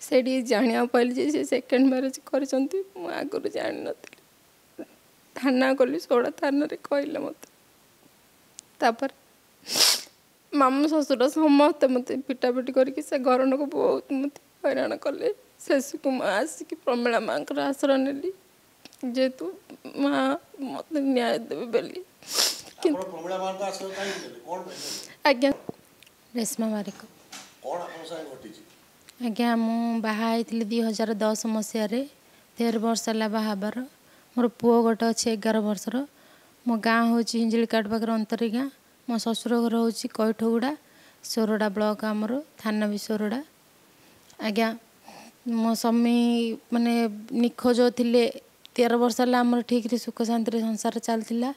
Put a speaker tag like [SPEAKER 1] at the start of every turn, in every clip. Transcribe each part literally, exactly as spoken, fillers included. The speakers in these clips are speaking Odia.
[SPEAKER 1] ସେଇଠି ଜାଣିବାକୁ ପାଇଲି ଯେ ସେ ସେକେଣ୍ଡ ମ୍ୟାରେଜ୍ କରିଛନ୍ତି। ମୁଁ ଆଗରୁ ଜାଣିନଥିଲି। ଥାନା ଗଲି, ସୋଡ଼ା ଥାନାରେ କହିଲେ ମୋତେ। ତାପରେ ମାମୁଁ ଶ୍ୱଶୁର ସମସ୍ତେ ମୋତେ ପିଟାପିଟି କରିକି ସେ ଘର ଲୋକ ବହୁତ ମୋତେ ହଇରାଣ କଲେ। ଶେଷକୁ ମୁଁ ଆସିକି ପ୍ରମିଳା ମାଆଙ୍କର ଆଶ୍ରୟ ନେଲି, ଯେହେତୁ ମା ମୋତେ ନ୍ୟାୟ ଦେବେ ବୋଲି।
[SPEAKER 2] ଆପଣ ପ୍ରମିଳା ମାଙ୍କ ଆଶ୍ରୟ କାହିଁକି ନେଲେ, କ'ଣ ପାଇଁ ନେଲେ?
[SPEAKER 1] ଆଜ୍ଞା।
[SPEAKER 3] ରେଶ୍ମା ବାରିକ।
[SPEAKER 2] କ'ଣ ଆପଣଙ୍କ ସାଙ୍ଗେ ଘଟିଛି?
[SPEAKER 3] ଆଜ୍ଞା, ମୁଁ ବାହା ହେଇଥିଲି ଦୁଇ ହଜାର ଦଶ ମସିହାରେ। ତେର ବର୍ଷ ହେଲା ବାହା ହେବାର। ମୋର ପୁଅ ଗୋଟେ ଅଛି ଏଗାର ବର୍ଷର। ମୋ ଗାଁ ହେଉଛି ହିଞ୍ଜିଳିକାଟ ପାଖରେ ଅନ୍ତରୀ ଗାଁ। ମୋ ଶ୍ୱଶୁର ଘର ହେଉଛି କଇଠଗୁଡ଼ା, ସୋରଡ଼ା ବ୍ଲକ ଆମର, ଥାନା ବି ସୋରଡ଼ା। ଆଜ୍ଞା, ମୋ ସ୍ୱାମୀ ମାନେ ନିଖୋଜ ଥିଲେ। ତେର ବର୍ଷ ହେଲା ଆମର ଠିକ୍ରେ ସୁଖ ଶାନ୍ତିରେ ସଂସାର ଚାଲିଥିଲା।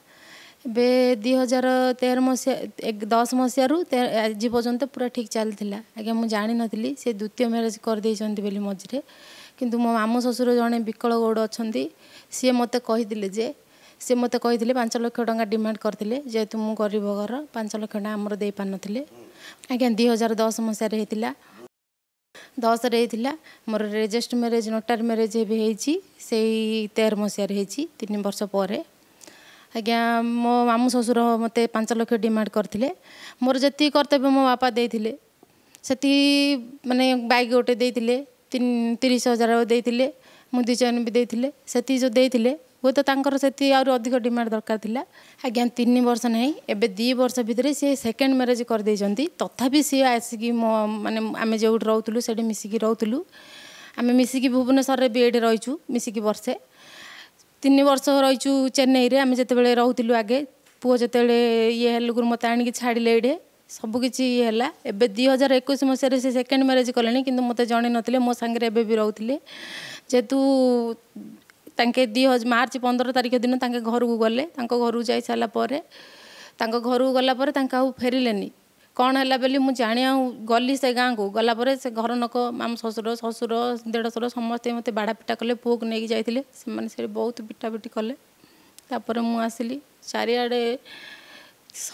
[SPEAKER 3] ଏବେ ଦୁଇ ହଜାର ତେର ମସିହା ଦଶ ମସିହାରୁ ଆଜି ପର୍ଯ୍ୟନ୍ତ ପୁରା ଠିକ୍ ଚାଲିଥିଲା। ଆଜ୍ଞା, ମୁଁ ଜାଣିନଥିଲି ସେ ଦ୍ୱିତୀୟ ମ୍ୟାରେଜ୍ କରିଦେଇଛନ୍ତି ବୋଲି ମଝିରେ। କିନ୍ତୁ ମୋ ମାମୁଁ ଶ୍ୱଶୁର ଜଣେ ବିକଳ ଗୌଡ଼ ଅଛନ୍ତି, ସିଏ ମୋତେ କହିଥିଲେ ଯେ ସିଏ ମୋତେ କହିଥିଲେ ପାଞ୍ଚ ଲକ୍ଷ ଟଙ୍କା ଡିମାଣ୍ଡ କରିଥିଲେ। ଯେହେତୁ ମୁଁ ଗରିବ ଘର, ପାଞ୍ଚ ଲକ୍ଷ ଟଙ୍କା ଆମର ଦେଇପାରିନଥିଲେ। ଆଜ୍ଞା, ଦୁଇ ହଜାର ଦଶ ମସିହାରେ ହେଇଥିଲା, ଦଶରେ ହେଇଥିଲା। ମୋର ରେଜିଷ୍ଟ୍ରି ମ୍ୟାରେଜ୍, ନୋଟାରୀ ମ୍ୟାରେଜ୍ ଏବେ ହେଇଛି, ସେଇ ତେର ମସିହାରେ ହେଇଛି, ତିନି ବର୍ଷ ପରେ। ଆଜ୍ଞା, ମୋ ମାମୁଁ ଶ୍ୱଶୁର ମୋତେ ପାଞ୍ଚ ଲକ୍ଷ ଡିମାଣ୍ଡ କରିଥିଲେ। ମୋର ଯେତିକି କର୍ତ୍ତବ୍ୟ ମୋ ବାପା ଦେଇଥିଲେ ସେତିକି, ମାନେ ବାଇକ୍ ଗୋଟେ ଦେଇଥିଲେ, ତିରିଶ ହଜାର ଦେଇଥିଲେ, ମୁଦି ଚେନ୍ ବି ଦେଇଥିଲେ। ସେତିକି ଯେଉଁ ଦେଇଥିଲେ, ହୁଏତ ତାଙ୍କର ସେତିକି ଆହୁରି ଅଧିକ ଡିମାଣ୍ଡ ଦରକାର ଥିଲା। ଆଜ୍ଞା, ତିନି ବର୍ଷ ନାହିଁ, ଏବେ ଦୁଇ ବର୍ଷ ଭିତରେ ସିଏ ସେକେଣ୍ଡ ମ୍ୟାରେଜ୍ କରିଦେଇଛନ୍ତି। ତଥାପି ସିଏ ଆସିକି ମୋ ମାନେ ଆମେ ଯେଉଁଠି ରହୁଥିଲୁ ସେଇଠି ମିଶିକି ରହୁଥିଲୁ। ଆମେ ମିଶିକି ଭୁବନେଶ୍ୱରରେ ବି ଏଇଠି ରହିଛୁ ମିଶିକି ବର୍ଷେ, ତିନି ବର୍ଷ ରହିଛୁ ଚେନ୍ନାଇରେ। ଆମେ ଯେତେବେଳେ ରହୁଥିଲୁ ଆଗେ, ପୁଅ ଯେତେବେଳେ ଇଏ ହେଲୁକୁ ମୋତେ ଆଣିକି ଛାଡ଼ିଲେ ଏଇଠି, ସବୁକିଛି ଇଏ ହେଲା। ଏବେ ଦୁଇ ହଜାର ଏକୋଇଶ ମସିହାରେ ସେ ସେକେଣ୍ଡ ମ୍ୟାରେଜ୍ କଲେଣି, କିନ୍ତୁ ମୋତେ ଜଣେଇ ନଥିଲେ। ମୋ ସାଙ୍ଗରେ ଏବେ ବି ରହୁଥିଲେ। ଯେହେତୁ ତାଙ୍କେ ଦୁଇ ହଜାର ମାର୍ଚ୍ଚ ପନ୍ଦର ତାରିଖ ଦିନ ତାଙ୍କେ ଘରକୁ ଗଲେ। ତାଙ୍କ ଘରକୁ ଯାଇ ସାରିଲା ପରେ, ତାଙ୍କ ଘରକୁ ଗଲା ପରେ ତାଙ୍କେ ଆଉ ଫେରିଲେନି। କ'ଣ ହେଲା ବୋଲି ମୁଁ ଜାଣିବାକୁ ଗଲି ସେ ଗାଁକୁ। ଗଲା ପରେ ସେ ଘର ଲୋକ, ମାମୁଁ ଶ୍ୱଶୁର, ଶ୍ୱଶୁର, ଦେଢ଼ଶୁର ସମସ୍ତେ ମୋତେ ବାଡ଼ା ପିଟା କଲେ। ପୁଅକୁ ନେଇକି ଯାଇଥିଲେ ସେମାନେ, ସେଠି ବହୁତ ପିଟାପିଟି କଲେ। ତାପରେ ମୁଁ ଆସିଲି, ଚାରିଆଡ଼େ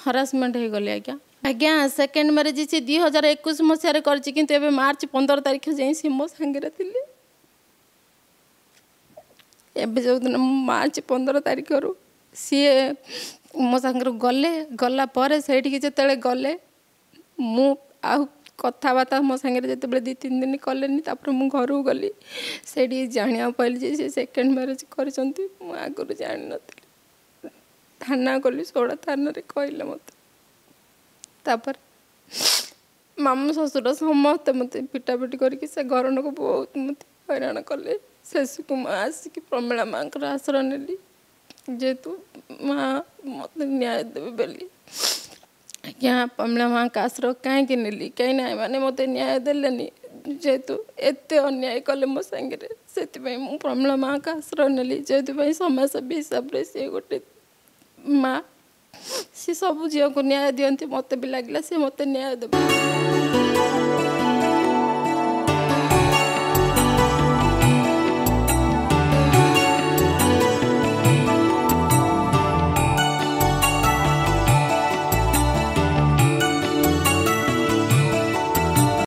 [SPEAKER 3] ହରାସମେଣ୍ଟ ହେଇଗଲି ଆଜ୍ଞା। ଆଜ୍ଞା, ସେକେଣ୍ଡ ମ୍ୟାରେଜ୍ ସେ ଦୁଇ ହଜାର ଏକୋଇଶ ମସିହାରେ କରିଛି, କିନ୍ତୁ ଏବେ ମାର୍ଚ୍ଚ ପନ୍ଦର ତାରିଖ ଯାଏଁ ସେ ମୋ ସାଙ୍ଗରେ ଥିଲେ। ଏବେ ଯେଉଁଦିନ ମୁଁ ମାର୍ଚ୍ଚ ପନ୍ଦର ତାରିଖରୁ ସିଏ ମୋ ସାଙ୍ଗରେ ଗଲେ, ଗଲା ପରେ ସେଇଠିକି ଯେତେବେଳେ ଗଲେ, ମୁଁ ଆଉ କଥାବାର୍ତ୍ତା ମୋ ସାଙ୍ଗରେ ଯେତେବେଳେ ଦୁଇ ତିନି ଦିନ କଲେନି, ତାପରେ ମୁଁ ଘରକୁ ଗଲି। ସେଇଠି ଜାଣିବାକୁ ପାଇଲି ଯେ ସେ ସେକେଣ୍ଡ ମ୍ୟାରେଜ୍ କରିଛନ୍ତି। ମୁଁ ଆଗରୁ ଜାଣିନଥିଲି। ଥାନା ଗଲି, ସୋଡ଼ା ଥାନାରେ କହିଲେ ମୋତେ। ତାପରେ ମାମୁଁ ଶ୍ୱଶୁର ସମସ୍ତେ ମୋତେ ପିଟାପିଟି କରିକି ସେ ଘର ଲୋକ ବହୁତ ମୋତେ ହଇରାଣ କଲେ। ଶେଷକୁ ମୁଁ ଆସିକି ପ୍ରମିଳା ମାଆଙ୍କର ଆଶ୍ରୟ ନେଲି, ଯେହେତୁ ମା ମୋତେ ନ୍ୟାୟ ଦେବେ ବୋଲି। ଆଜ୍ଞା, ପ୍ରମିଳା ମାଆଙ୍କ ଆଶ୍ରୟ କାହିଁକି ନେଲି? କାହିଁକିନା ଏମାନେ ମୋତେ ନ୍ୟାୟ ଦେଲେନି, ଯେହେତୁ ଏତେ ଅନ୍ୟାୟ କଲେ ମୋ ସାଙ୍ଗରେ, ସେଥିପାଇଁ ମୁଁ ପ୍ରମିଳା ମାଆଙ୍କ ଆଶ୍ରୟ ନେଲି। ଯେଉଁଥିପାଇଁ ସମାଜସେବୀ ହିସାବରେ ସିଏ ଗୋଟେ ମା, ସିଏ ସବୁ ଝିଅଙ୍କୁ ନ୍ୟାୟ ଦିଅନ୍ତି। ମୋତେ ବି ଲାଗିଲା ସିଏ ମୋତେ ନ୍ୟାୟ ଦେବେ।